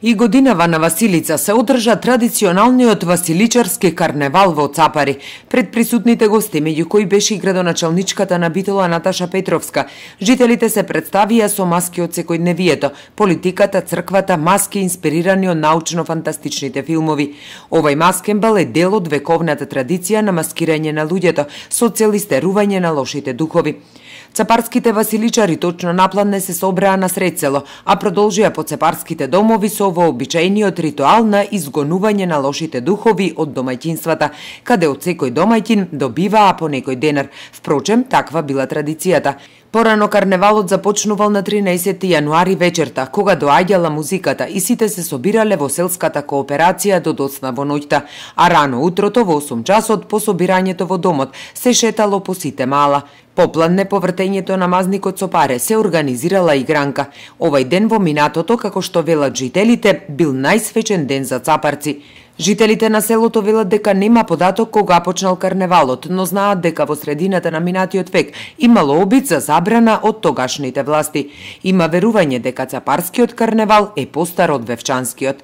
И годинава на Василица се одржа традиционалниот василичарски карневал во Цапари. Пред присутните гости, меѓу кои беше и градоначалничката на Битола Наташа Петровска, жителите се представија со маски од секојдневието, политиката, црквата, маски инспирирани од научно-фантастичните филмови. Овој маскенбал е дел од вековната традиција на маскирање на луѓето со цел истерување на лошите духови. Цапарските василичари точно наплан не се собраа на сред село, а продолжија по цапарските домови со вообичаениот ритуал на изгонување на лошите духови од домаќинствата, каде од секој домаќин добиваа по некој денар. Впрочем, таква била традицијата. Порано карневалот започнувал на 13 јануари вечерта, кога доаѓала музиката и сите се собирале во селската кооперација до доцна во ноќта, а рано утрото во 8 часот по собирањето во домот се шетало по сите мала. Попладне по вртењето на мазникот со паре се организирала игранка. Овај ден во минатото, како што велат жителите, бил најсвечен ден за цапарци. Жителите на селото велат дека нема податок кога почнал карневалот, но знаат дека во средината на минатиот век имало обид за забрана од тогашните власти. Има верување дека цапарскиот карневал е постар од вевчанскиот.